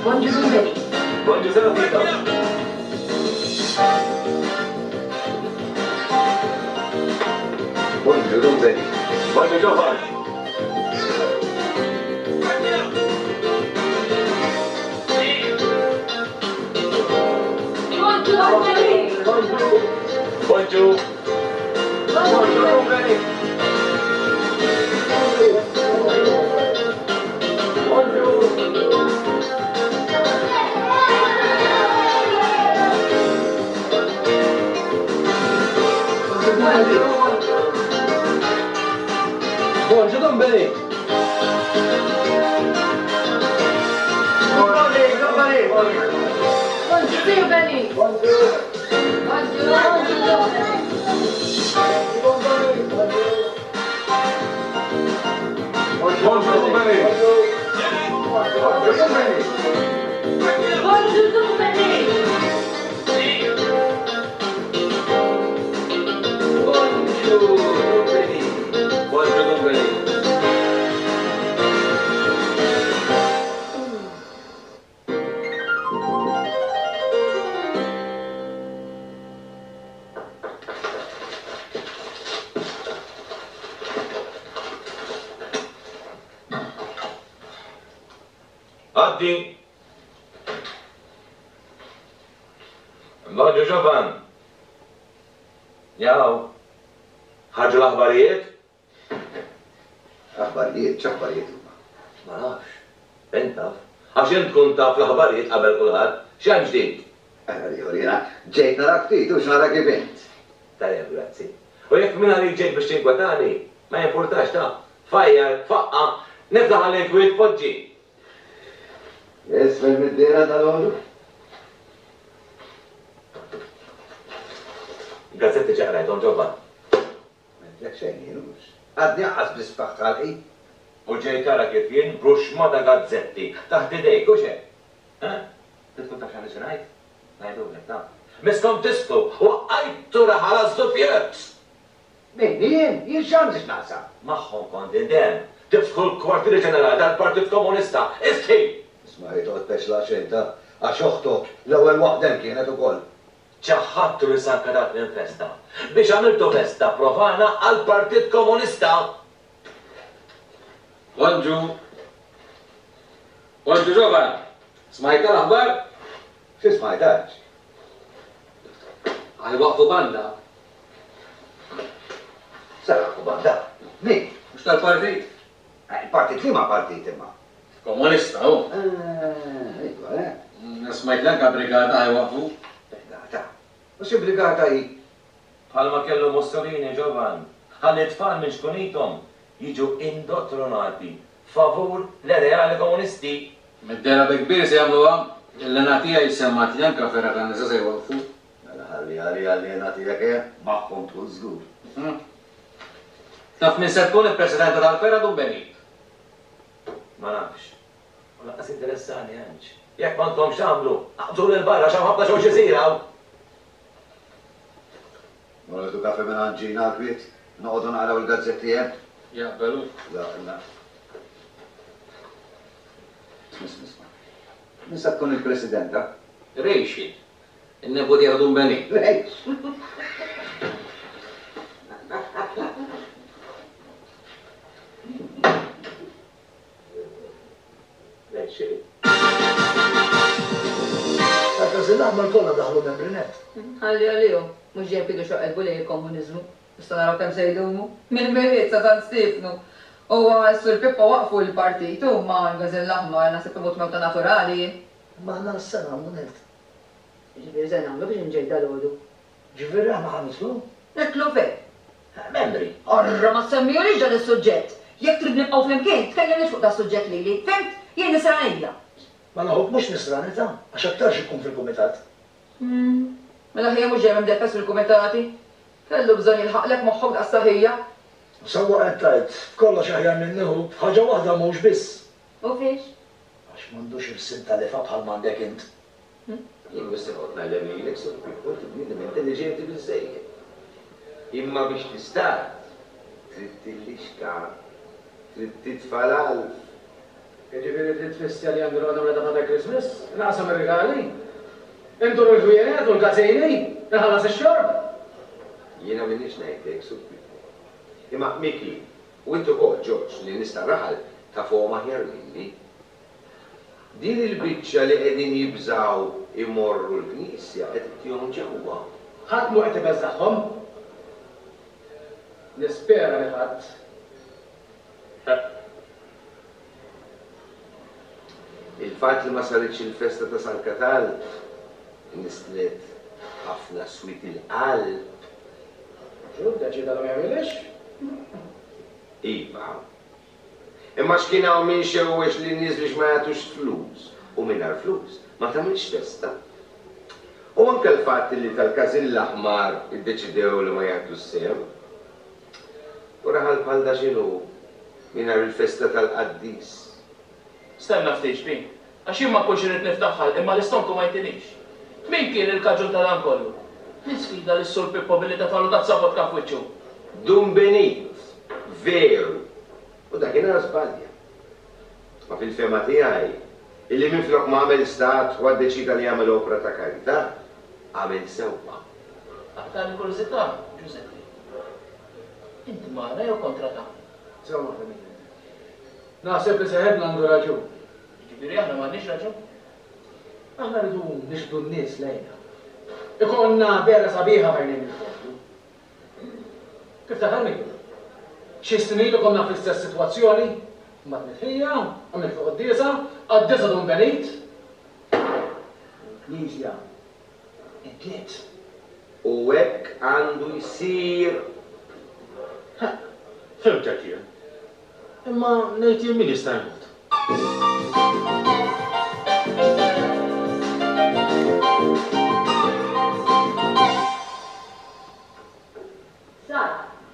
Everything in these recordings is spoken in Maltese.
Bonġu Dun Benny. Bonġu Serafino. Bonġu Dun Benny. Bonġu Ġovan. Bonġu Dun Benny. Bonġu. Bonġu Dun Benny. Bonġu Dun Benny. Bonġu Dun Benny. Bonġu. Bonġu Dun Benny. Bonġu Dun Benny. Bonġu Dun Benny. Bonġu Dun Benny. Bonġu Dun Benny. Għaddi. Bonġu Ġovan. Jaw. Ħarġu l-aħbarijiet? Aħbarijiet, x'aħbarijiet huma? Ma nafx. Int taf. Għax int tkun taf l-aħbarijiet qabel kulħadd. X'hemm ġdid? Ara ieħor jiena ġejt narak ftit u x'nara kif int. Tajjeb, grazzi. U jekk minn għalik ġejt biex tinkwetani, ma jimpurtax ta. Fajjar, faqqa, niftaħ għall-inkwiet poġġi. Isfel mid-dehra dalgħodu? Gazzetti ġa qrajthom Ġovan. M'għedtlek xejn jien hux. Għadni anqas biss ftaħt ħalqi. U ġej tara kif jien b'ruxxmata gazzetti taħt idejk, hux hekk? Eh? Trid tkun taf x'għandi xi ngħid? Ngħidulek, ta. Misskom tistħu, waqqajtu raħal għaż-żufjett! Min, jien? Jien x'għandi x'naqsam? Magħhom kont int hemm, tiftħu l-kwartieri ġenerali tal-Partit Komunista! Istħi! Isma' hi toqgħod tpexlaq xejn ta, għax oħtok l-ewwel waħda hemm kienet ukoll. Ċaħħadtu lil San Kadat minn festa, biex għamiltu festa profana għall-Partit Komunista! Bonġu! Bonġu Ġovan! Smajtha l-aħbar? Xi smajt għax? Ħa jwaqqfu banda. Se jwaqqfu banda? Min? Mhux tal-partit? Il-partit liema partit imma? Komunista hu. Eh, iva, eh. Smajt li anke brigata ħa jwaqqfu. Brigata? U xi brigata hi? Bħalma kellu Mussolini Ġovan, ħalli t-tfal minn xkunithom jiġu indottronati favur l-ideali komunisti. Mid-dehra bi kbir se jagħmluha, il-lena tiegħi semgħet li anke fergħa tan-nisa se jwaqqfu. Mela ħalli għaliha l-lena tiegħek eh, magħhom tkun żgur. Taf min se tkun il-presidenta tal-fergħa Dun Benit? Ma nafx. U lanqas jinteressani, Anġ. Jekk m'għandkomx x'tagħmlu, aqbżuli 'l barra għax hawn ħafna xogħol x'isir hawn! Morru nieħdu kafè mingħand Gina għall-kwiet, noqogħdu naqraw il-gazzetti hemm. Jaqbel hu. Jaqbel. Isma' isma' isma'. Min sa tkun il-presidenta? Rachel, in-neputija ta' Dun Benny. Rachel! Rachel. Tal-Każin l-Aħmar kollha daħlu membri nett. Ħalli għalihom, mhux dejjem kienu xoqelbu lejn il-komuniżmu. Issa naraw kemm se jdumu. Mill-Milied sa San Stiefnu. Huwa s-Sur Pippo waqqfu l-partit hu ma l-Gażin l-Aħmar naħseb imut mewta naturali jien. Imma aħna x'se nagħmlu nett? Jiġifieri se nagħmlu biex inġej dalgħodu? Ġifieri aħna ħa nidħlu? Nidħlu fejn? Membri. Orra ma ssemmihulix dan is-suġġett! Jekk trid nibqgħu flimkien, tkellimnix fuq das-suġġett lili, fhimt? Jien nisranija. Mela ħuk mhux nisrani ta, għax aktarx ikun fil-kumitat. Umm. Mela ħija mhux dejjem imdeffes fil-kumitati? Kellu bżonn jilħaqlek moħħok daqs ta' ħija. U sewwa qed tgħid, f'kollox aħjar minni ħuk, f'ħaġa waħda mhux biss. U fiex? Għax m'għandux irsim ta' lifgħa bħal m'għandek int. Jien mhux se noqgħod ngħallem lilek, Sur Pippo, inti bniedem intelliġenti biżżejjed. Imma biex tistad, trid tillixka, trid titfa' l-għalf. Jiġifieri trid tfisser li għandi noqgħod nagħmilha ta' Father Christmas? Inqassam ir-rigali? Indur il-ħwienet u l-każini? Inħallas ix-xorb? Jiena m'iniex ngħid hekk, Sur Pippo. Imma Mickey, u int ukoll, Ġorġ, li n-nies tar-raħal tafuhom aħjar minni. Din il-biċċa li qegħdin jibżgħu jmorru l-knisja qed ittihom ġewwa. Ħadd mhu qed ibeżżagħhom. Nispera li ħadd. Il-fatt li ma saritx il-festa ta' San Katald nisslet ħafna swied il-qalb. Hu ddeċieda li ma jagħmilhiex. Iva. Imma x'kien hawn min xewwex lin-nies biex ma jagħtux flus u mingħajr flus ma tagħmilx festa. U anke l-fatt li tal-Każin l-Aħmar iddeċidew li ma jagħtux sehem. U raħal bħal da x'inhu mingħajr il-festa tal-qaddis? Stenna ftit, xbin. Għax jien ma nkunx irrid niftaħ ħalq imma l-istonku ma jtinix. Min kien il-kaġun ta' dan kollu? Min sfida lis-Sur Pippo billi tefagħlu tazza vodka f'wiċċu? Dun Benit, Veru. U dakinhar żbalja. Ma fil-fehma tiegħi, illi minflok ma għamel statwa ddeċieda li jagħmel opra ta' karità, għamel sewwa. Aqtagħli kurżità, Ġużeppi. Int magħna jew kontra tagħna? Żomm waħda minnhom. Naħseb li seħibna għandu raġun. Jiġifieri aħna m'għandniex raġun? Aħna rridu niġbdu n-nies lejna. Ikollna dehra sabiħa f'għajnejn il-poplu. Kif taf Emil? Xi snin ilu konna fl-istess sitwazzjoni, mbagħad miet ħija, għamilt quddiesa, qaddisha Dun Benit. U l-Knisja imtliet. U hekk għandu jsir. Ħeqq, fhimtek jien. Imma ngħid jien min jista' jmut? Sar,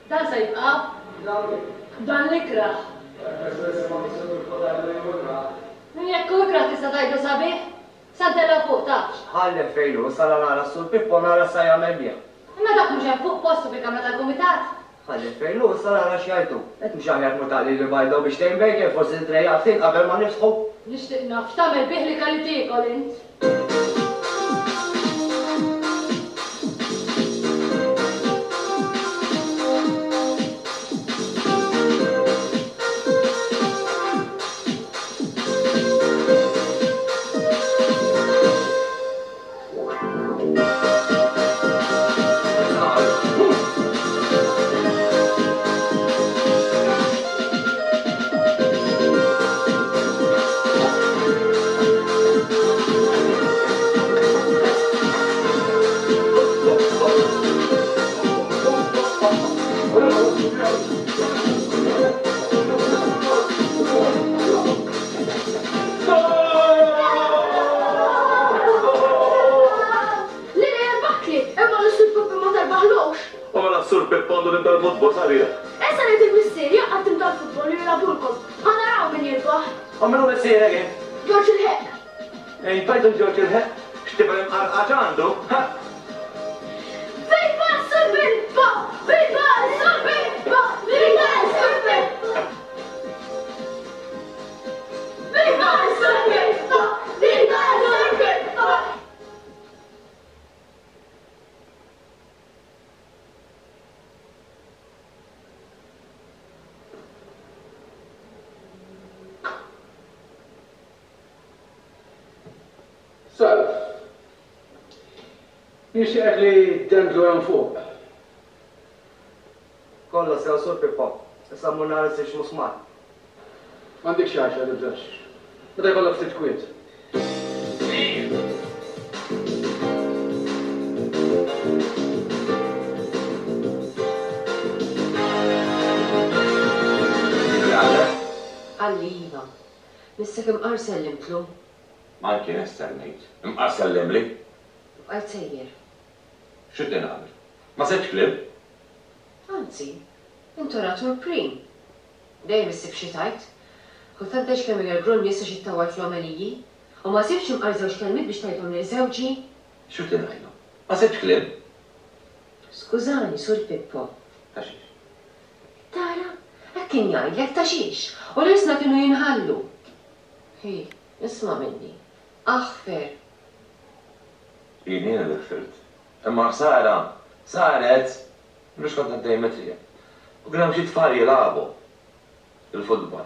dan se jibqa'? Dan l-ikrah. Jekk hu ikrah tista' tgħidlu sabiħ? Sa ntellgħu fuq, tafx. Ħallih fejn hu, sala nara s-Sur Pippo nara x'sa jagħmel bih. Imma dak mhux hemm fuq postu fil-kamra tal-kumitat? Ħallih fejn hu, issa nara x'jgħid hu. Int mhux aħjar tmur taqlili bajda u biex tgħin bacon, forsi titrejjaq ftit qabel ma niftħu? Nixtieq naf x'tagħmel bih l-ikel li tiekol int. Lili jerbaħtli, imma lis-Sur Pippi ma terbaħlux. U mela s-Sur Pippo għandu tim tal-futbol sabiħ. Issa ngħid il-missier jgħaqqad tim tal-futbol u jilagħbulkom. Ħa naraw min jirbaħ. U min hu missierek int? Ġorġ il-Ħeqq. Int għidt il-Ġorġ il-Ħeqq? X'tifel imqarqaċ għandu, ha? Viva s-Sur Pippo! Viva s-Sur Pippo! Viva s-Sur Pippo! Viva s-Sur Pippo! Viva s-Sur Pippo! Salv. Nixtieqek li ddendlu hemm fuq. Kollox sew Sur Pippo. Issa mmur nara ssirx musmar. M'għandikx għaxla tibżax. Meta jkollok ftit kwiet. Qalli iva. Missek imqar sellimtlu. Ma anki jien stennejt. Imqar sellimli. U bqajt sejjer. X'ridni nagħmel? Ma sibtx kliem. Anzi, int oratur prim. Dejjem issib xi tgħid. Kultant tgħidx kemm igergru n-nies għax ittawwal fl-omeliji. U ma sibtx imqar żewġ kelmiet biex tgħidhom lil żewġi. X'ridni ngħidlu? Ma sibtx kliem. Skużani, Sur Pippo. Ta' xiex? Tara? Hekk kien jgħidlek, ta' xiex? U l-ilsna kienu jinħallu. Hi, isma' minni. Aħfer. Jien jiena li ħfirt. Imma ħsara saret! Mhux kont għaddej mit-triq. U kien hemm xi tfal jilagħbu il-futbol.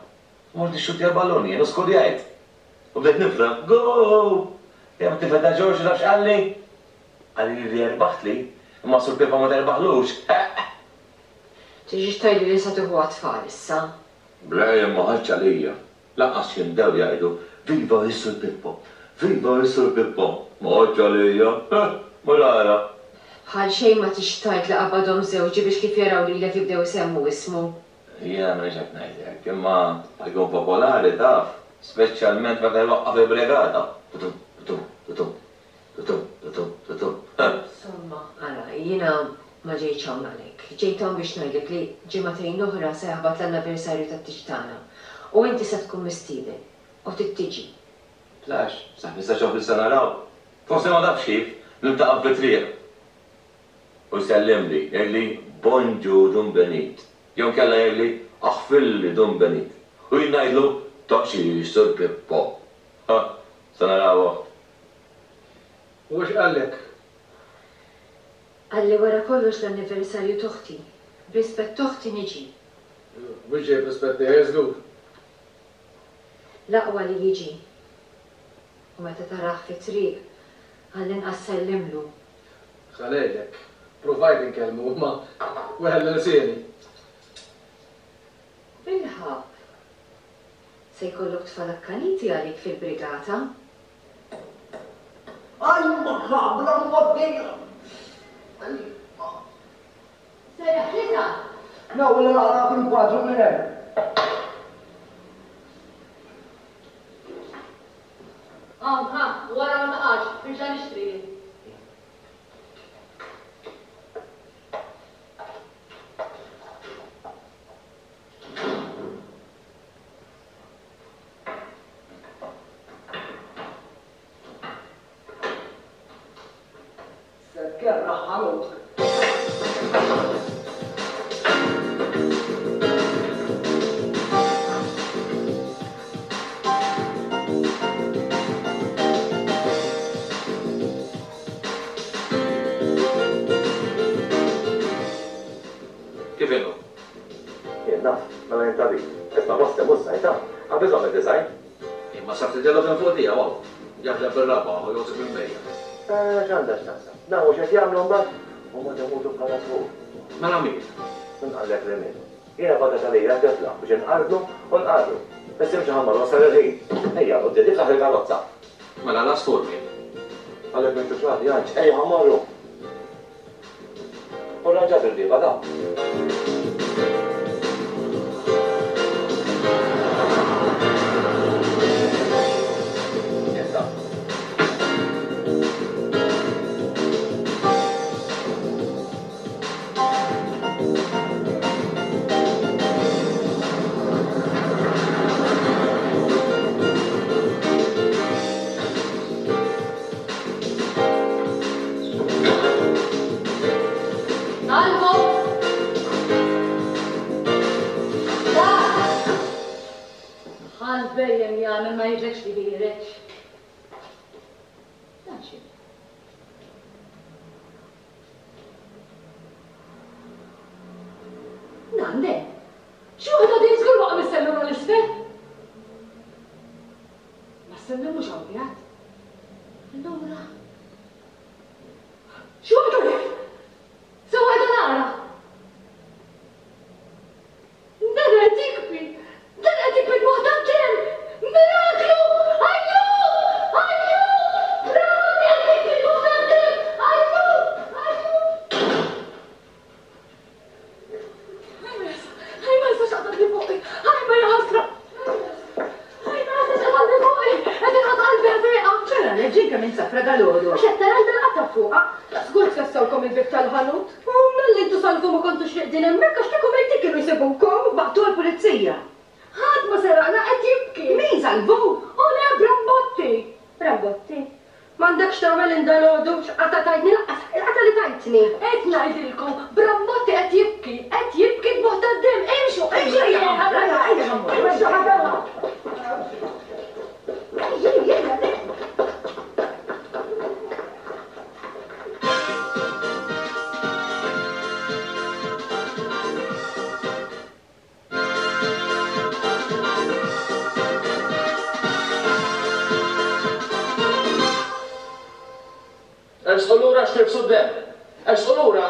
Mort nixxuttja l-ballun jien u skurjajt. U bdejt nifraħ, Goal! Jaf it-tifel ta' Ġorġ taf x'qalli? Qalli li erbaħtli, imma Sur Pippa ma terbaħlux. Ħeqq! Tiġix tgħidli li sa tieħu għat-tfal issa. Le, jien ma ħadtx għalija. Lanqas jindew jgħidu, Viva is-Sur Pippo! Viva is-Sur Pippo! Ma ħadtx għalija. Ħeqq! Mur ara! Bħal xejn ma tix tgħid li qabadhom żewġi biex kif jaraw lilek jibdew isemmu ismu. Jiena m'iniex qed ngħid hekk, imma jkun popolari taf, speċjalment meta jwaqqaf il-brigata. Tutum, tutum, tutum, tutum, tutum, tutum. Insomma, ara, jiena ma ġejtx hawn għalhekk. Ġejt hawn biex ngħidlek li ġimagħtejn oħra se jaħbat l-anniversarju tat-tieġ tagħna u inti se tkun mistieden u trid tiġi. Tlax, sa ħmistax oħra se naraw. Forsi ma tafx kif, niltaqgħu fit-triq. U jsellimli, jgħidli, Bonġu Dun Benit. Jew inkella jgħidli, Aħfirli Dun Benit. U jien ngħidlu, Toqgħodx Sur Pippo. Ha, se naraw oħt. U x'qallek? Qalli wara kollox l-anniversarju t'oħti. B'rispett t'oħti niġi. Mhux ġej b'rispett tiegħi żgur. L-aqwa li jiġi. U meta tarah fit-triq, għall-inqas sellimlu. Ħa ngħidlek, pruvajt inkellmu imma weħel lsieni. Bilħaqq! Se jkollok tfal akkaniti għalik fil-brigata. Ajma ħabla mgħoddija! Ajma. Serraħlitha! L-ewwel naqra fil-kwadru minn hemm. Hawn, ħa, wara ma taqax, nerġa' nixtri jien. Se tkerrah ħanut. Kif inhu? Jien naf, mela jien tabib. Isma' Boste mhux żgħir ta', qabiżhom id-design. Imma sa ftit ilu kien fuq tiegħu hawn. Jaħdem fir-raba' u jogħżob il-bhejjem. Eh, x'għandha x'taqsam? Nafu x'qed jagħmlu mbagħad? Huma jmutu bħal għasfur. Mela miet? Min qallek li miet? Jiena bagħtet għalija t-tifla biex inqarblu u nqarru. Issa imxi ħa mmorru wasal il-ħin. Ejja, quddiem iftaħ il-karozza. Mela l-għasfur miet? Qallek m'intux raġel, Janċ, ejja ħa mmorru. U rranġat il-bieba ta'. Issa. Salvu! Dak! Bħal bhejjem jagħmel ma jidlekx li ħiereġ. Dan x'inhu? Dan de! Xi waħda din żgur waqa' mis-sellum għal isfel! Ma s-sellum mhux hawn qiegħed. Allura. Xi waħda le! Se waħda nara! Dan qed jikbi! Dan qed jikbi b'waħda d-demm! Miraklu! Ajju! Ajju! Bravo qed jikbi b'waħda d-demm! Ajju! Ajju! Ħaj ma jistax qatadli fuqi! Ħaj ma jaħasra! Ħaj ma jistax qatadli fuqi! Qed inħoss qalbi ħżieqa! Ċara le ġej kemm insafra dalgħodu. Mhux qed tara l-belqa fuqha. Żgur tkessawkom il-bieb tal-ħanut. U malli intu salvu ma kontux reqdin hemmhekk għax kieku mejtin kienu jsibukom. Baqtu għall-pulizija. Ħadd ma seraqna qed jibki. Min salvu? U le Brambotti! Brambotti? M'għandekx tagħmel int dalgħodu, x'qatgħa tajtni lanqas il-qatgħa li tajtni. Qed ngħidilkom, Brambotti qed jibki, qed jibki dmugħ tad-demm, imxu, imxu ejja, imxu ħadalha. lura għax tirfsu d-demm. Ersqu lura!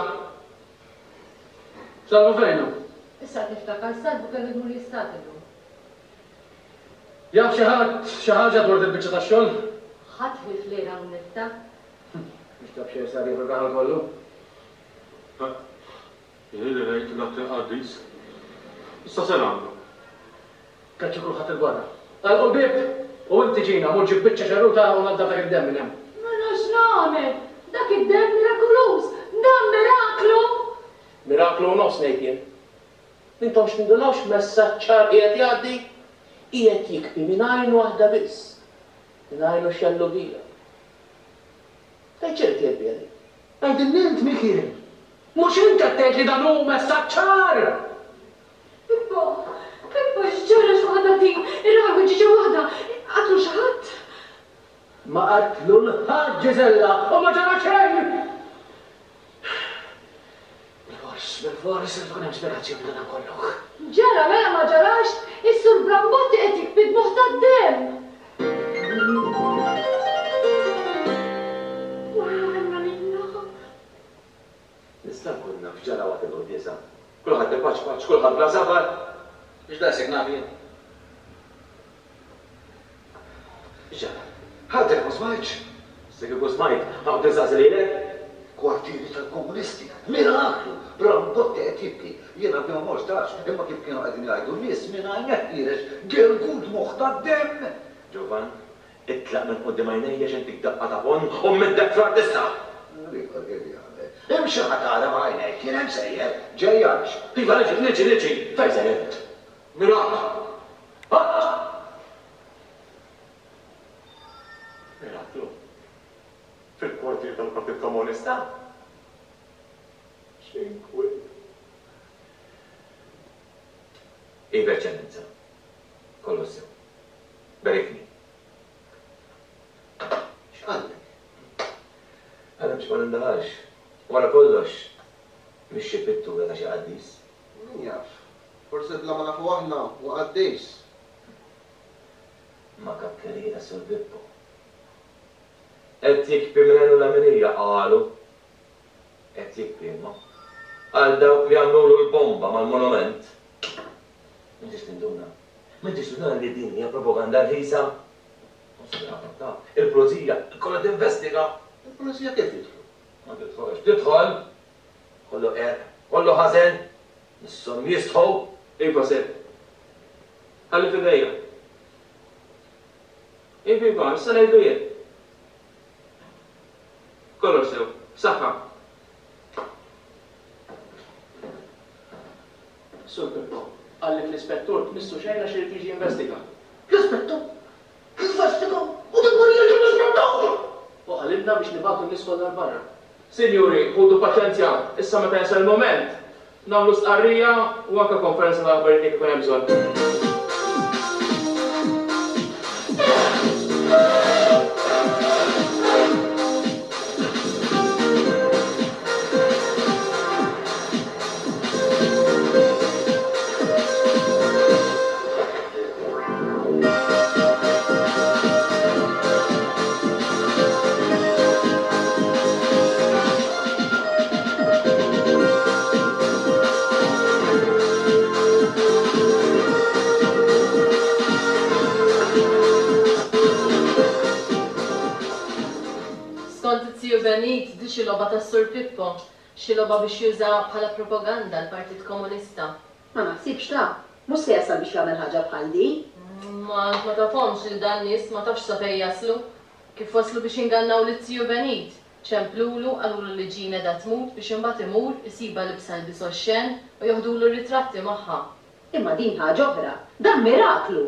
Salvu fejn hu? Issa qed niftakar, Salvu kellu jmur jistad illum. Jaf xi ħadd xi ħaġa dwar dil-biċċa tax-xogħol? Ħadd ħlief Lena u Netta. Mhux ta' b'xejn sar jieħu r-raħal kollu. Ili ngħid l-att il-qaddis. Issa se nagħmlu? Keċċu kulħadd 'il barra. Għalqu l-bieb u inti Ġina mur ġib biċċa xerruta u naddaf dak id-demm minn hemm. Mela x'nagħmel? Dak id-demm mirakuluż! Dan miraklu! Miraklu u nofs ngħid jien. M'intomx tindunaw x'messaġġ ċar qiegħed jgħaddi? Qiegħed jikbi minn għajn waħda biss. Minn għajnu x-xellugija. Tgħid x'irid jgħid biha din? Għidilni int Mikiel! Mhux int qed tgħid li dan hu messaġġ ċar! Pippo! Pippo, x'ġara x'waħda din? Ir-raħal ħuġġieġa waħda! Qatlu xi ħadd? Ma qatlu 'l ħadd Ġiżella u ma ġara xejn! Bilfors, bilfors irid ikun hemm spjegazzjoni ta' dan kollu. Ġara mela ma ġarax, is-Sur Brambotti qed jikbi dmugħ tad-demm! Alla ħenna lilna! Nista' nkun naf x'ġara waqt il-quddiesa? Kulħadd ipaċpaċ, kulħadd bla sabar! Mhux daqshekk naf jien. X'ġara? Għadek ma smajtx? Issa kieku smajt, ħa noqgħod insaqsi lilek? Kwartieri tal-Komunisti! Miraklu! Brambotti qed jibki. Jien għadni ma mortx għax, imma kif kienu qegħdin jgħidu n-nies, minn għajnejh ħiereġ gergud moħħ tad-demm! Ġovann, itlaq minn quddiem għajnejja xi ntik daqqa ta' ponn u mmiddek fl-art issa! L-ieħor kif jagħmel? Imxi ħa tara b'għajnejk, jien hemm sejjer. Ġej għaliex? Iva, niġi, niġi, niġi! Fejn sejjer int? Miraklu! Ħadd! Miraklu! Fil-kwartier tal-Partit Komunista? X'inkwiet! Iva, Eċċellenza. Kollox sew. Berikni. X'qallek? Qalli biex ma nindaħalx. Wara kollox, mhix xi pittura ta' xi qaddis. Min jaf? Forsi bla ma nafu aħna, huwa qaddis. Ma' kakkerija tas-Sur Pippo. Qed jikbi minn għajnu l-leminija, qalu. Qed jikbi imma. Għal dawk li għamlulu l-bomba mal-monument. M'intix tinduna. M'intix tinduna li din hija propaganda rħisa? Konsidrata, il-pulizija jkollha tinvestiga. Il-pulizija kif jidħlu? Ma tidħolx. Tidħol! Kollu qerq, kollu ħażen, misshom jistħu! Iva, Sir. Ħalli f'idejja. Iva, iva, issa ngħidlu jien. Kollox sew. Saħħa. Sur Pippo, qallek l-ispettur tmissu xejn għax irid jiġi jinvestiga. L-ispettur? Jinvestiga? U dak mar jerġa' l-ispettur! U qalilna biex nibagħtu n-nies kollha 'l barra. Sinjuri, ħudu paċenzja, issa meta jasal il-mument, nagħmlu stqarrija u anke konferenza tal-aħbarijiet jekk ikun hemm bżonn. Skont iz-ziju Benit, di xi logħba tas-Sur Pippo. Xi logħba biex juża bħala propaganda l-Partit Komunista. Ma naħsibx ta. Mhux se jasal biex jagħmel ħaġa bħal din. Ma int ma tafhomx lil dan nies, ma tafx sa fejn jaslu. Kif waslu biex ingannaw lit-ziju Benit. Ċemplulu, qalulu li Jean qiegħda tmut biex imbagħad imur, isibha libsa lbies oxxen u joħdulu r-ritratti magħha. Imma din ħaġa oħra. Dan miraklu!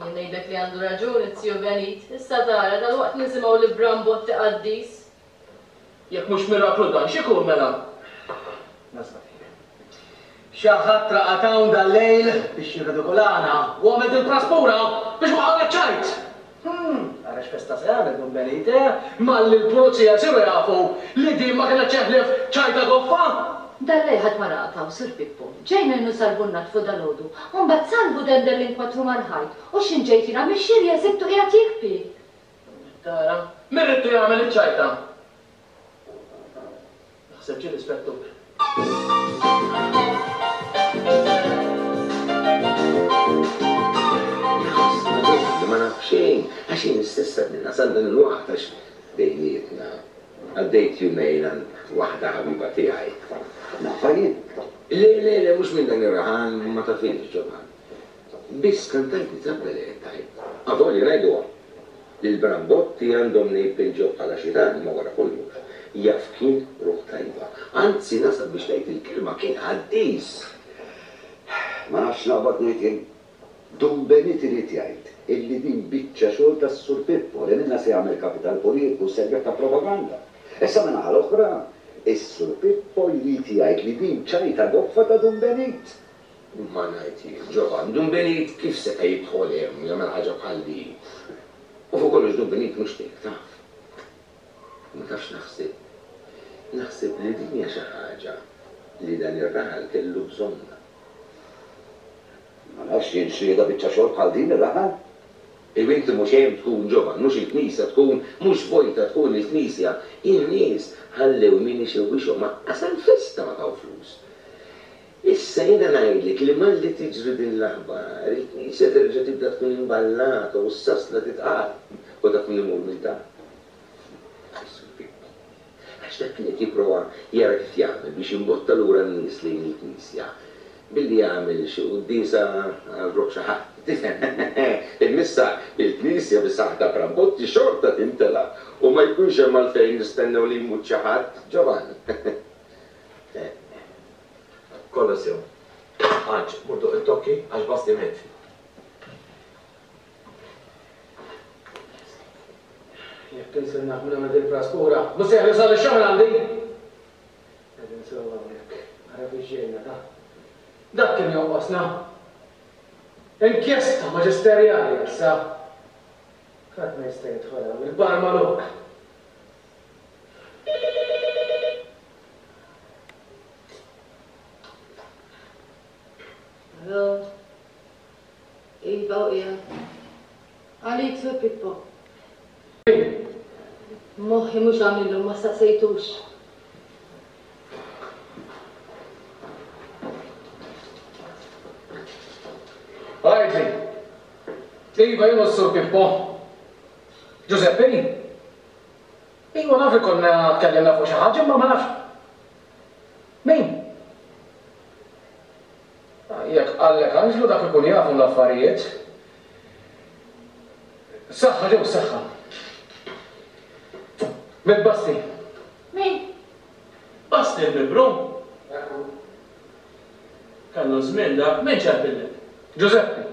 Jien ngħidlek li għandu raġun it-ziju Benit. Issa tara, dalwaqt nisimgħu li Brambotti qaddis. Jekk mhux miraklu dan, x'ikun mela? Nasba fik. Xi ħadd raqad hawn dal-lejl biex jirridikolana u għamel dil-praspura biex waqqagħna ċ-ċajt! Hm, ara x'festa se jagħmel Dun Benit, eh? Malli l-pulizija jsiru jafu li din ma kienet xejn ħlief ċajta goffa! Dal-lejl ħadd ma raqad hawn, Sur Pippo. Ġejna jien u Salvu nnaddfu dalgħodu, u mbagħad Salvu dendel l-inkwatru mal-ħajt u x'in ġejt jiena mix-xirja sibtu qiegħed jikbi! Tara, min ridtu jagħmel iċ-ċajta? Naħseb ġie l-ispettur. Li ma naf xejn, għax jien stess għadni nasal dan il-waqt għax bejnietna għaddejt jumejn għand waħda ħabiba tiegħi. Nafha jien? Le, le, le, mhux minn dan ir-raħal, ma tafhiex, Ġovann. Biss kantajt nitabba li qed tgħid. Avolja ngħiduha li l-Brambotti għandhom nejpinġew bħala xitan imma wara kollox jaf kien ruħ tajba. Anzi nasal biex ngħid il-kelma kien qaddis. Ma nafx x'naqbad ngħid jien. Dun Benit irid jgħid illi din biċċa xogħol tas-Sur Pippo li minnha se jagħmel kapital politiku u sservih ta' propaganda. Issa min-naħa l-oħra, is-Sur Pippo jrid jgħid li din ċajta goffa ta' Dun Benit. Ma ngħid jien, Ġovann, Dun Benit kif seta' jidħol hemm u jagħmel ħaġa bħal din? U fuq kollox Dun Benit mhux tiegħek, taf. Ma tafx naħseb? Naħseb li din hija xi ħaġa li dan ir-raħal kellu bżonnha. Ma nafx jien x'riedha biċċa xogħol bħal din ir-raħal. Iva inti mhux hemm tkun Ġovann, mhux il-knisja tkun, mhux vojta tkun il-knisja. In-nies ħallew min ixewwixhom, aqqas għall-festa ma taw flus. Issa jiena ngħidlek li malli tiġri din l-aħbar, il-knisja terġa' tibda tkun imballata u s-sasla titqal. U taf min imur minn ta'? Is-Sur Pippo. Għax dak kien qed jipprova jara kif jagħmel biex jimbotta lura n-nies lejn il-knisja billi jagħmel xi quddiesa għal ruħ xi ħadd. Tifhem? Imma issa il-knisja bis-saħħa ta' Brambotti xorta timtela u ma jkunx hemm għalfejn nistennew li jmut xi ħadd. Ġovann. Kollox sew. Anġ, mur doqq it-tokki għax Basti miet. Jekk insir naf min għamel dil-praspura, mhux se jeħles għal ix-xogħol għandi! Qegħdin sew hawnhekk, ara fiex ġejna ta. Dak kien jonqosna. Inkjesta maġisterjali issa. Ħadd ma jista' jidħol hawn, il-bar magħluq. Hello? Iva u qiegħed. Għalik Sur Pippo. Moħħi mhux hawn illum ma staqsejtux. Għidli. Iva jien hu s-Sur Pippo. Giuseppe? Iva naf li konna tkellimna fuq xi ħaġa imma ma nafx. Min? Jekk qallek Anġlu dak ikun jafhom l-affarijiet. Saħħa ġew saħħa. Mitt Basti. Min? Basti l-mibru? Ekku. Kellu żmien dak, min ċempillek? Ġużeppi.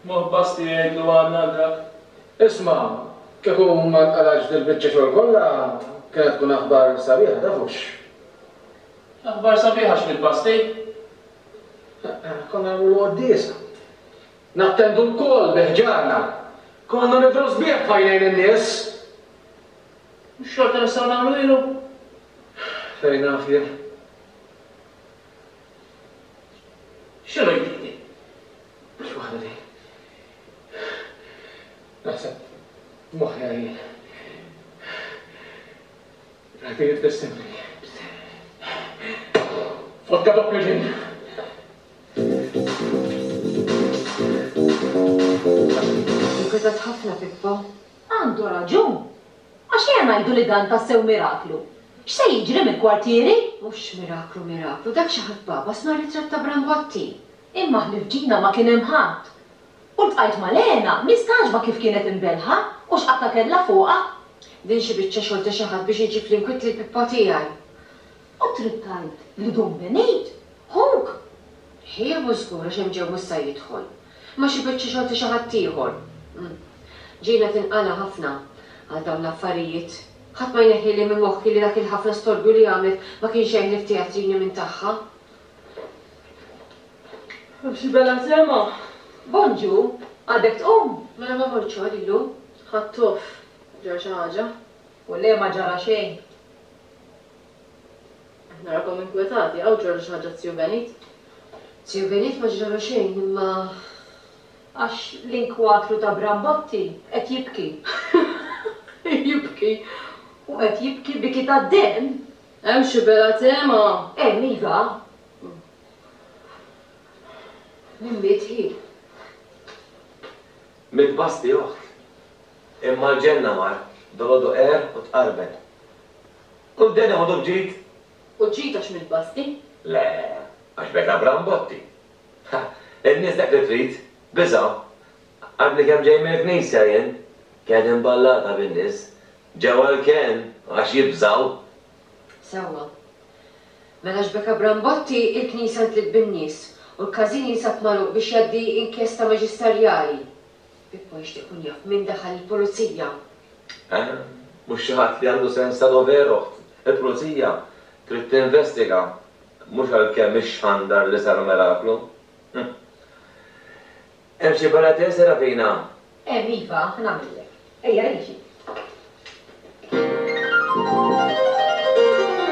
Moħħ Basti jgħidlu għandna dak. Isma', kieku ma nqalgħetx dil-biċċa xogħol kollha, kienet tkun aħbar sabiħa, taf hux? Aħbar sabiħa x'miet Basti? Konna nagħmlu quddiesa. Nattendu lkoll bi ħġarna. Konna nidhru sbieħ f'għajnejn in-nies. Mhux xorta nistgħu nagħmluhielu? Fejn naf jien. X'inhu jgħidli? X'waħda din? Naħseb moħħi għajjien. Rafi jitbissimli. Vodka doppju ġin. Inkwetat ħafna Pippo. Għandu raġun. Għax ejja ngħidu li dan tassew miraklu. X'se jiġri mill-kwartieri? Mhux miraklu miraklu, dak xi ħadd bagħbas mar-ritratt ta' Brambotti. Imma ħlief Gina ma kien hemm ħadd. U ltqajt ma' Lena, mistagħġba kif kienet imbellħa u x'qatgħa kellha fuqha. Din xi biċċa xogħol ta' xi ħadd biex iġib l-inkwiet lil Pippa tiegħi. U trid tgħid li Dun Benit, ħuk? Ħija mhux żgur għax hemm ġew mhux sa jidħol. Imma xi biċċa xogħol ta' xi ħadd ieħor. Gina tinqala' ħafna għal dawn l-affarijiet. Ħadd ma jneħħili minn moħħi li dak il-ħafna storbju li għamlet ma kien xejn ħlief teatrini minn tagħha. Xi bela sema! Bonġu, għadek tqum? Mela ma mortx xogħol illum? Ħadt off. Ġara xi ħaġa? U le ma ġara xejn. Qed narakom inkwetati, hawn ġralu xi ħaġa z-Ziju Benit? Ziju Benit ma ġralu xejn imma. Għax l-inkwatru ta' Brambotti qed jibki. Jibki? U qed jibki biki tad-demm! Hemm xi bela tema? Hemm, iva. Min miet hi? Miet Basti oħt. Imma l-ġenna mar, dolodu qerr u tqarben. Kull deni ħodu b'ġid. U ġid għax miet Basti? Le, għax beka Brambotti. Ha, in-nies dak li trid, biża'. Għadni kemm ġej mill-knisja jien, kienet imballata bin-nies. Ġew għall-kenn għax jibżgħu. Sewwa. Mela għax beka Brambotti, il-knisja ntliet bin-nies u l-każin jinsab magħluq biex jgħaddi inkjesta maġisterjali. Pippo jixtieq ikun jaf min daħal il-pulizija. Eh, mhux xi ħadd li għandu sens ta' dover, oħt. Il-pulizija trid tinvestiga, mhux għalkemm ixxandar li sar miraklu. Hm. Hemm xi bela te, Serafina? Hemm, iva, nagħmillek. Ejja, għixi.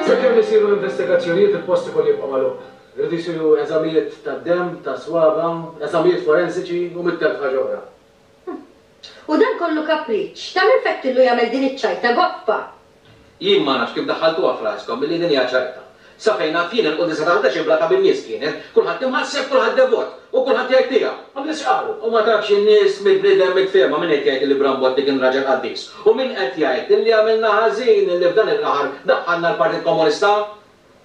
Sakemm isiru l-investigazzjonijiet il-post ikollu jibqa' magħluq. Iridu jsiru eżamijiet tad-demm, tas-swaba', eżamijiet forensiċi u 100,000 ħaġa oħra. U dan kollu kapriċċ ta' min fettillu jagħmel din iċ-ċajta goffa! Jien ma nafx kif daħħaltuha f'raskom illi din hija ċajta. Sa fejn naf jien il-quddiesa ta' 11 imblata bin-nies kienet, kulħadd imħasseb, kulħadd devot, u kulħadd jgħid tiegħu. U n-nies x'qalu? U ma tafx in-nies mill-bniedem mitfiehma min qed jgħid illi Brambotti kien raġel qaddis u min qed jgħid illi għamilna ħażin illi f'dan il-qaħar daħħalna l-Partit Komunista.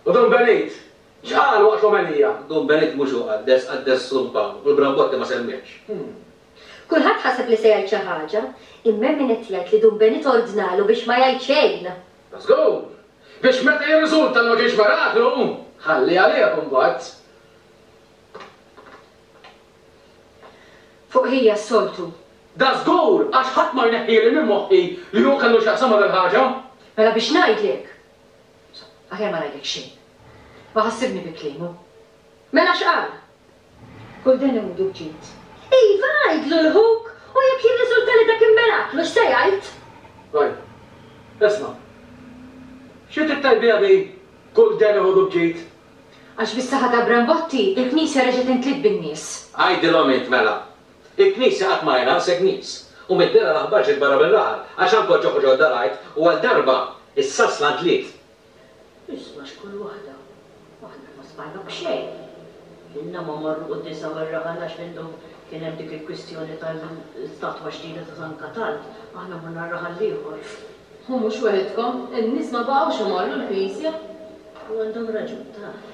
U Dun Benit, x'qal waqt l-omelija? Dun Benit mhux hu qaddes, qaddes Dun Pawl, u l-Brambotti ma semmiehx. Kulħadd ħaseb li se jgħid xi ħaġa, imma hemm min qed jgħid li Dun Benit ordnalu biex ma jgħid xejn! Dażgur! Biex meta jirriżulta li ma kienx miraklu, ħalli għalih imbagħad. Fuq ħija s-soltu. Dażgur, għax ħadd ma jneħħieli minn moħħi li hu kellu x'jaqsam ma' dil-ħaġa. Mela biex ngħidlek. Insomma, aħjar ma ngħidlek xejn. Ma ħassibni bi kliemu. Mela x'qal? Kull deni hu b'ġid. Iva, għidlu 'l ħuk, u jekk jirriżulta li dak immiraklu x'se jgħid? Oj, isma'. Xi trid tgħid biha di, kull deni ħudu b'ġid? Għax bis-saħħa ta' Brambotti, il-knisja reġgħet intliet bin-nies. Għidilhom int mela. Il-knisja qatt ma hi naqsek nies. U mid-dehra l-aħbar ġiet barra mir-raħal, għax anke ġoħ ġodda rajt u għal darba, is-sasla ntliet. Isma' x'kull waħda. Aħna ma smajna b'xejn. Ilna ma morru quddiesa mir-raħal għax mindu kien hemm dik il-kwistjoni tal-istatwa ġdida ta' San Katald, aħna morna r-raħal l-ieħor. U mhux weħidkom, in-nies ma baqgħux imorru l-knisja. U għandhom raġun, taf.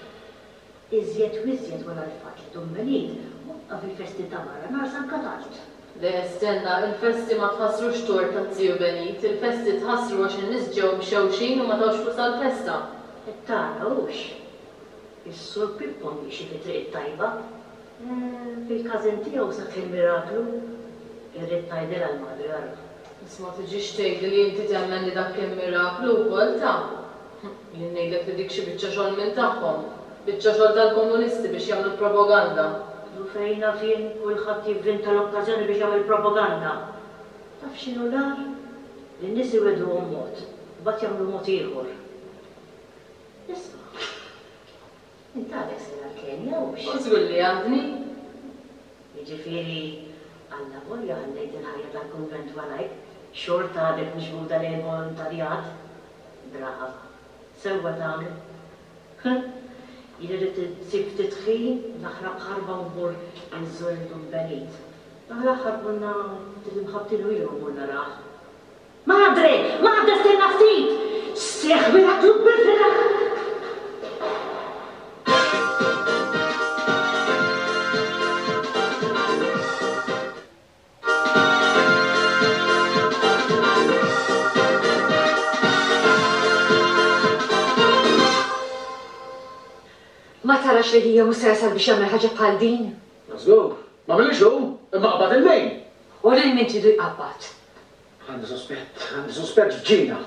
Iżjed u iżjed wara l-fatt li Dun Benit waqqaf il-festi ta' barra nhar San Katald. Le, stenna, il-festi ma tħassrux tort taz-ziju Benit, il-festi tħassru għax in-nies ġew imxewxin u ma tawx flus għall-festa. Qed tara, hux? Is-Sur Pippo miexi fit-triq it-tajba. Eh, fil-każin tiegħu seħħ il-miraklu. Irrid ngħidilha l-Madre, ara. Isma' tiġix tgħidli li inti temmen li dak kien miraklu wkoll, ta'. Jien ngħidlek li dik xi biċċa xogħol minn tagħhom. Biċċa xogħol tal-komunisti biex jagħmlu propaganda. U fejn naf jien, kulħadd jivvinta l-okkażjoni biex jagħmel propaganda. Taf x'inhu l-agħar? Li n-nies iwegħduhom mod, imbagħad jagħmlu mod ieħor. Isma', int għadek sejra l-Kenja, hux? U żgur li għadni. Jiġifieri, allavolja ħallejt il-ħajja tal-kunvent warajk, xorta għadek miġbuda lejn il-volontarjat? Brava. Sewwa tagħmel. Huh! Jien irrid insib ftit ħin, naħrab ħarba u mmur inżur lil Dun Benit. Dan l-aħħar konna ftit imħabbtin u ilu ma mmur narah. Madre! Madre stenna ftit! Seħħ miraklu kbir fir-raħal! Ma tarax li ħija mhux se jasal biex jagħmel ħaġa bħal din? Żgur, m'għamilhiex hu, imma qabad il-lejl. U lil min tridu jqabbad? Għandi suspett, għandi suspett f'Ġina.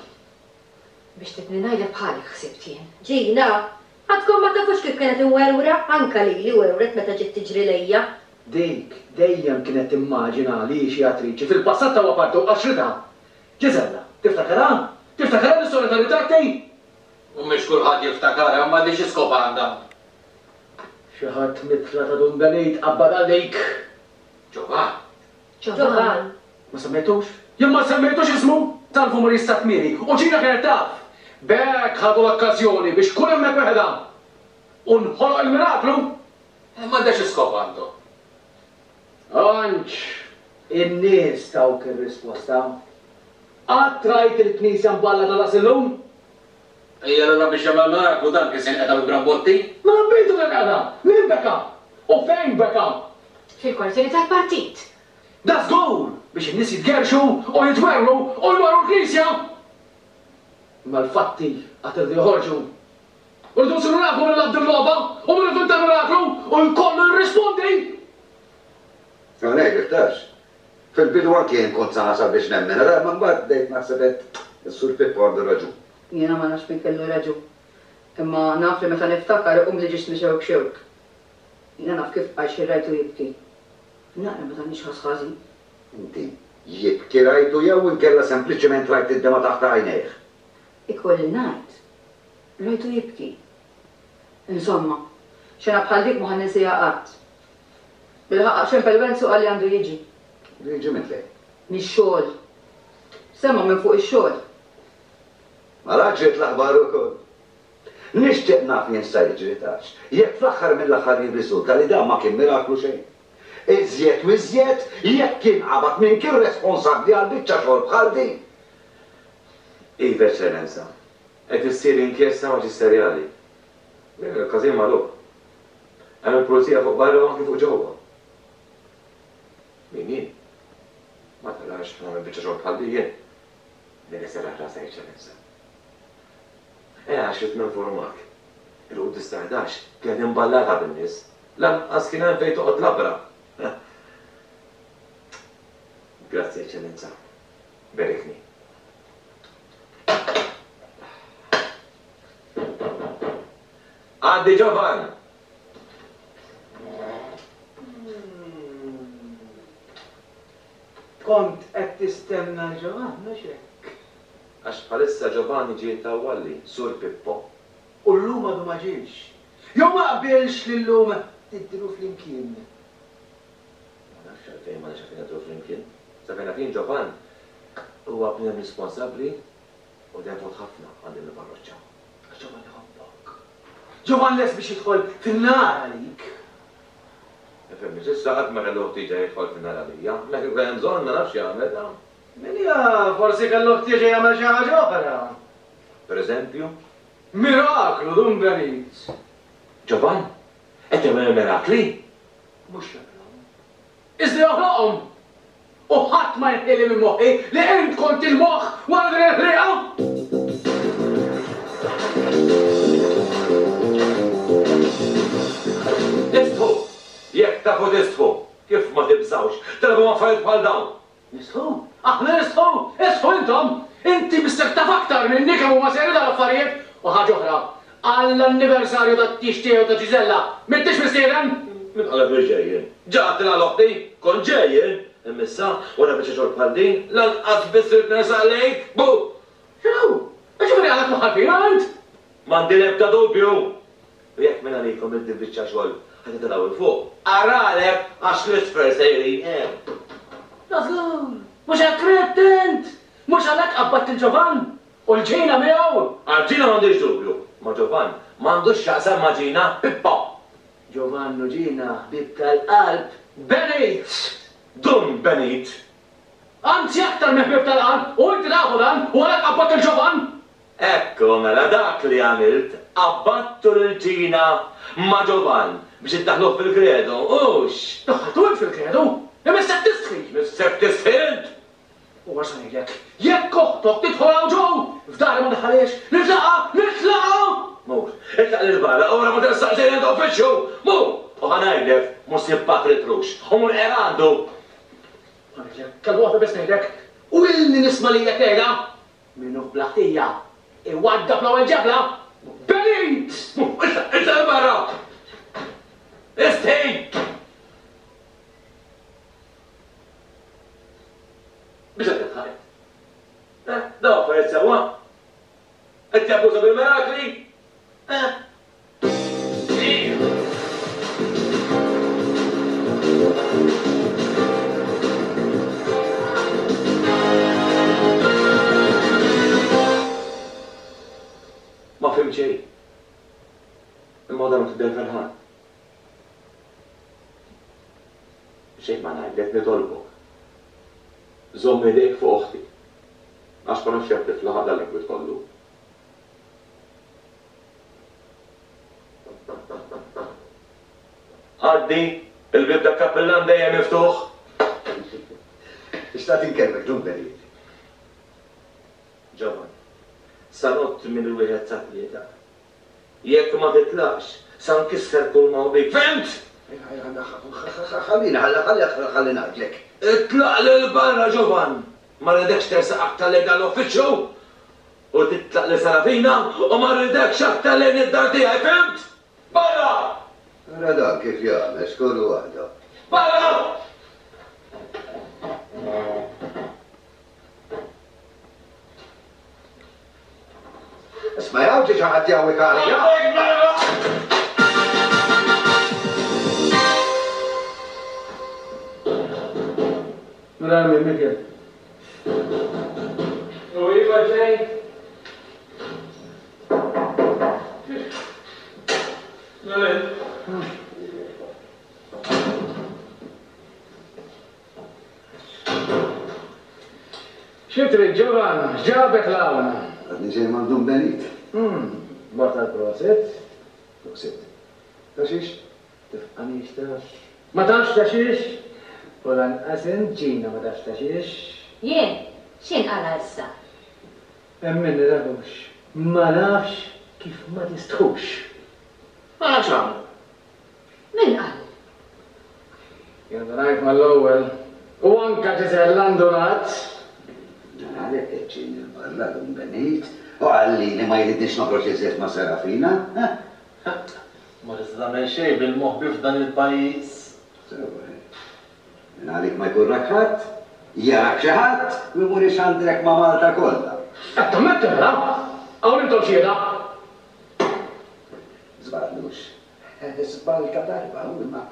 Biex tridni ngħidlek bħalek ħsibt jien. Ġina, Għadkom ma tafux kif kienet imwerwra, anka lili werwret meta ġiet tiġri lejja. Dik dejjem kienet timmaġina li hi xi attriċi, fil-passat tawha parti u qaxxritha. Ġiżella, tiftakarha? Tiftakarha l-istorja tar-ritratti? U mhix kulħadd jiftakarha, imma di xi skop għandha? Xi ħadd mitla ta' Dun Benit qabbadha għalik. Ġovan. Ġovan. Ma semmejtux? Jien ma semmejtux ismu! Talbu Maurice Satmieri u Ġina kienet taf! B'hekk ħadu l-okkażjoni biex tkun hemmhekk weħedha. U nħoloq il-miraklu! Imma da xi skop għandu? Anġ, in-nies tawk ir-risposta. Qatt rajt il-knisja mballata daqs illum? Ejja allura biex jagħmel miraklu dan kien se jinqeda bi brambotti? Mela bietu tinqeda! Min beka? U fejn beka? Fil-kwartieri tal-partit. Da żgur biex in-nies jitgerrxu u jitwerwru u jmorru l-knisja! Imma l-fatti għad iridu joħorġu. U rridu nsiru nafu min lagħab din logħba u min ivvinta l-miraklu u jkollu jirrispondi! Ħa ngħidlek tafx, fil-bidu anki jien kont sa nasal biex nemmen, ara imma mbagħad bdejt naħseb għedt, is-Sur Pippo għandu raġun. Jiena ma nafx min kellu raġun. Imma naf li meta niftakar iqumli ġismi xewk xewk. Jiena naf kif bqajt xi rajtu jibki. Naqra ma tagħmilx ħass ħażin. Inti jibki rajtu jew inkella sempliċement rajt id-demgħa taħt għajnejh? Ikolli ngħid, rajtu jibki. Insomma, xena bħal dik mhu ħa ninsieha qatt. Bilħaqq ċempel Wenzu qal li għandu jiġi. Għandu jiġi minn fejn? Mix-xogħol. Semma minn fuq ix-xogħol. Mela ġiet l-aħbar ukoll. Nixtieq naf jien x'sa jiġri tafx, jekk fl-aħħar mill-aħħar jirriżulta li dan ma kien miraklu xejn. Iżjed u iżjed jekk kien qabad min kien responsabbli għal biċċa xogħol bħal din. Iva Eċċellenza. Qed issir inkjesta maġisterjali. Il-każin magħluq. Hemm il-pulizija fuq barra u anki fuq ġewwa. Min jien? Ma tarax nagħmel biċċa xogħol bħal din jien. Min iserraħ rasha Eċċellenza. Eh għax ridt ninformak. Il-quddies ta' 11 kienet imballata bin-nies. Lanqas kien hemm fejn toqgħod labra. Grazzi Eċċellenza. Berikni. Għaddi Ġovan! Kont qed tistenna l-Ġovan, mhux hekk? Għax bħalissa Giovanni ġie jittawwalli, Sur Pippo. U llum għadu ma ġiex. Jew ma qbilx li llum tidhru flimkien? Ma nafx għalfejn m'għandniex għalfejn nidhru flimkien. Sa fejn naf jien Giovann huwa bniedem responsabbli u devot ħafna għal din il-parroċċa. Għax Giovann iħobbok. Giovann lest biex jidħol fin-nar għalik. Ifhimni, s'issa ħadd ma kellu ħtieġa jidħol fin-nar għalija. Imma kieku kien hemm bżonn ma nafx x'jagħmel, ta. Min jaf, forsi kellu ħtieġa jagħmel xi ħaġa oħra. Per eżempju? Miraklu, Dun Benit! Ġovan? Qed jagħmel il-mirakli? Mhux jagħmilhom. Iżda joħloqhom! U ħadd ma jneħħieli minn moħħi li int kont il-moħħ wara din il-ħrieqa! Istħu! Jekk tafu tistħu! Kif ma tibżgħux tilagħbu m'affarijiet bħal dawn? Nistħu? Aħna nistħu? Istħu intom! Inti missek taf aktar minni kemm huma serji dawn l-affarijiet! U ħaġa oħra, għall-anniversarju tat-tieġ tiegħi u ta' Ġiżella, m'intix mistieden! Min qalek li ġej jien? Ġa għedtilha 'l oħti, kont ġej jien! Imma issa, wara biċċa xogħol bħal din, lanqas biss ridt nersaq lejk! Bu! X'inhu? Jiġifieri għadek mwaħħal fina int? M'għandi l-ebda dubju! U jekk mingħalikom li din biċċa xogħol ħa titilgħu 'l fuq, aralek għax l-isfel sejrin hemm. Da żgur! Mhux hekk ridt int! Mhux għalhekk qabbadt lil Ġovann? U 'l Ġina miegħu? Għal Ġina m'għandix dubju, ma Ġovann m'għandux x'jaqsam ma' Ġina, Pippo! Ġovann u Ġina ħbieb tal-qalb, Benit! Dun Benit! Anzi aktar minn ħbieb tal-qalb, u inti tafu dan, u għalhekk qabbadt lil Ġovann! Ekku mela dak li għamilt, qabadtu lil Ġina ma' Ġovann biex iddaħħluh fil-kredu, hux? Daħħaltu int fil-kredu? Imissek tistħi! Missek tistħi int! U għax sa ngħidlek, jekk oħtok tidħol hawn ġo, f'dari ma ndaħħalhiex, nitlaqha, nitlaqha! Mur, itlaq 'l barra, ora ma tersaqx lejn għand uffiċċju! Mur! U ħa ngħidlek, mhux se jibqgħek ritrux, u mur qer għandu! Ħa ngħidlek, kelma waħda biss ngħidlek, u ilni nisma' lilek tgħidha, Min hu bla ħtija, iwaddab l-ewwel ġebla! Benit! Itlaq, itlaq 'il barra! Istħi! Biex qed tidħaq int? Eh, dawn affarijiet sewwa? Qed jabbuża bil-mirakli? Eh? Xejn ma ngħidlek, nitolbok. Żomm idejk fuq oħti. Għax ma nafx jekk tiflaħ għal dan l-inkwiet kollu. Għaddi, il-bieb tal-kappillan dejjem miftuħ. Xtaqt inkellmek, Dun Benit. Ġovan, sa ngħodd minn wieħed sa tlieta. Jekk ma titlaqx, sa nkisser kull ma hu bik. Fhimt? Ħallini, ħalli ngħidlek. Itlaq 'l barra, Ġovan! Ma rridekx tersaq aktar lejn dan l-uffiċċju! U titlaq lil Serafina u ma rridekx aktar lejn id-dar tiegħi, fhimt? Barra! Ara dan kif jagħmel, xkollu waħda. Barra! Isma' hawn ġie xi ħadd jgħawwik għalija. Mela min Mikiel? U iva ġej. Mela Xi trid Ġovan? X'ġabek 'l hawn? Għadni ġej m'għand Dun Benit. Mort għall-prosit. Prosit. Ta' xiex? Tifqanix taf. Ma tafx ta' xiex? U lanqas int Ġina ma tafx ta' xiex. Jien? X'inqala' issa? Emminni tafux. Ma nafx kif ma tistħux. Mela x'għamlu? Min qal? Jien ndunajt mal-ewwel. U anke Ġiżella ndunat. Dan għalhekk keċċieni 'l barra Dun Benit u qalli li ma jridnix noħroġ iżjed ma' Serafina. Ma tista' tagħmel xejn bil-moħbi f'dan il-pajjiż. Sewwa, eh. Minn għalik ma jkun rak ħadd, jarak xi ħadd u jmur ixandrek ma' Malta kollha. Qed tammetti mela? Hawn intom xhieda. Żball mhux. Żball ta' darba, hu, imma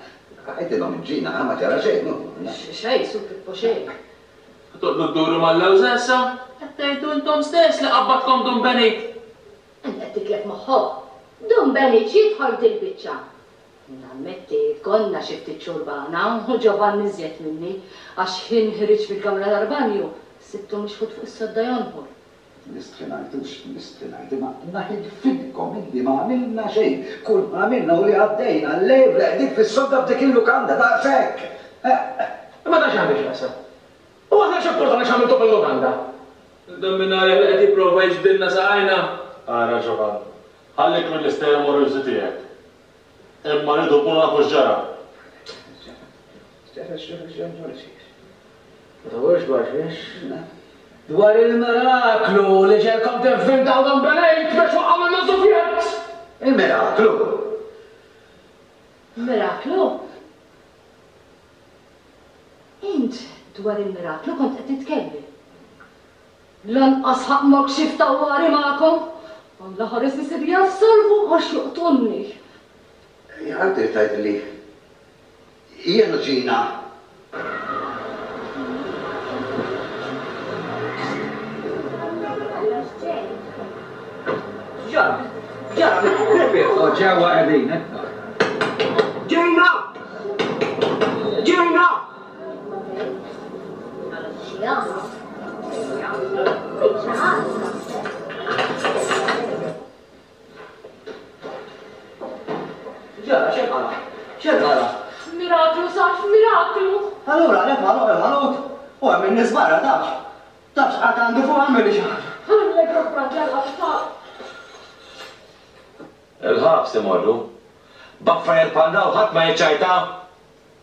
għidilhom Ġina, ma ġara xejn, hu. Xejn, Sur Pippo, xejn. Toqgħdu dduru mal-lewża issa? Qed tgħidu intom stess li qabbadkom Dun Benit! Int qed titlef moħħok? Dun Benit x'jidħol f'dil-biċċa? Nammetti, konna xi ftit xurbana u Ġovann iżjed minni, għax x'ħin ħriġt mill-kamra tal-banju, sibtu mixħut fuq is-sodda jonħor. Nistħi ngħid, hux nistħi ngħid, imma naħilfilkom illi ma għamilna xejn. Kull ma għamilna hu li għaddejna l-lejl reqdin fis-sodda f'dik il-lukanda, daqshekk! Imma dan x'għandu x'jaqsam? U aħna x'importana x'għamiltu fil-lukanda? Dan mingħalih li qed jipprova jiġbdilna saqajna! Ara Ġovan, ħallik mill-istejjer amorużi tiegħek. Imma rridu nkunu nafu x'ġara. X'ġara, x'ġara, x'ġara, x'ġara? Ma tawwilx dwar xiex. Dwar il-miraklu li ġegħelkom tivvintaw Don Benejt biex waqqgħu lil Sufjett! Il-miraklu? Miraklu? Int dwar il-miraklu kont qed titkellem. Lanqas ħaqqmok xi ftawwari magħkom! Alla ħares isir jaf salvu għax joqtolni! Għad trid tgħidli Jien u Gina. X'ġara? X'ġara? U ġewwa qegħdin, issa. Gina! Gina! X'ġara? X'inqala'? X'inqala'? Miraklu sar f'miraklu! Allura għalhekk magħluq il-ħanut u hemm in-nies barra tafx. Taf x'qagħad għandu fuq għamilli xi ħaġa. Allegro fratello sar. Il-ħabs imorru. B'affarijiet bħal dawn ħadd ma jiċċajta!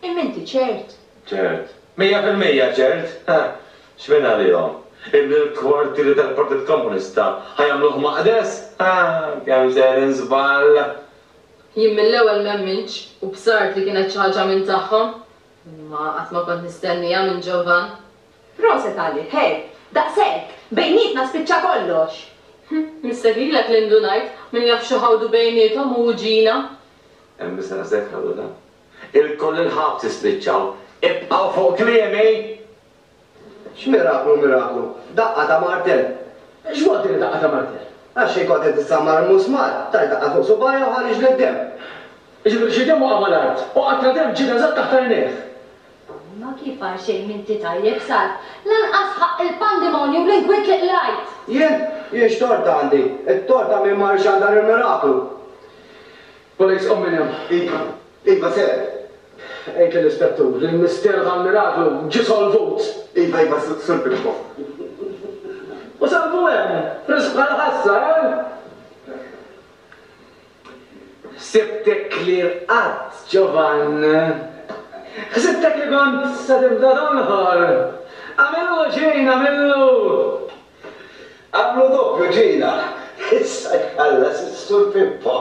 Imma inti ċert? Ċert. 100% ċert! X'minn għalihom? Illi l-kwartieri tal-Partit Komunista ħa jagħmluh maqdes? Kemm sejrin żball! Jien mill-ewwel m'emmintx u bsart li kienet xi ħaġa minn tagħhom. Imma qatt ma kont nistennieha minn Ġovan. Proset għalik, he! Daqshekk! Bejnietna spiċċa kollox! Missek lilek li ndunajt, min jaf xi ħawdu bejniethom hu u Ġina. Hemm biss rasek ħawdu dan. Ilkoll il-ħabs tispiċċaw. Ibqgħu fuq kliemi! X'miraklu miraklu? Daqqa ta' martell. X'vol din id-daqqa ta' martell? Għax xi kont qed issammar musmar, tajt daqqa fuq subgħajja u ħariġli d-demm. Jiġifieri xi demm waqa' mal-art u qatra demm ġiet eżatt taħt għajnejh. Imma kif għal xejn m'inti tajjeb, Salv? Lanqas ħaqq il-pandimonju u l-inkwiet li qlajt! Jien? Jien x'tort għandi? It-tort ta' min mar ixandar il-miraklu! Police, qum minn hemm! Iva, iva, sir! Għid lill-ispettur li l-misteru tal-miraklu ġie solvut! Iva, iva, Sur Pippo. U salvu hemm, frisk bħal ħassa, eh? Ħsibtek li rqadt, Giovann. Ħsibtek li kont se tibda tonħor. Agħmillu, Gina, agħmillu! Agħmlu doppju, Gina. Issa jħallas is-Sur Pippo.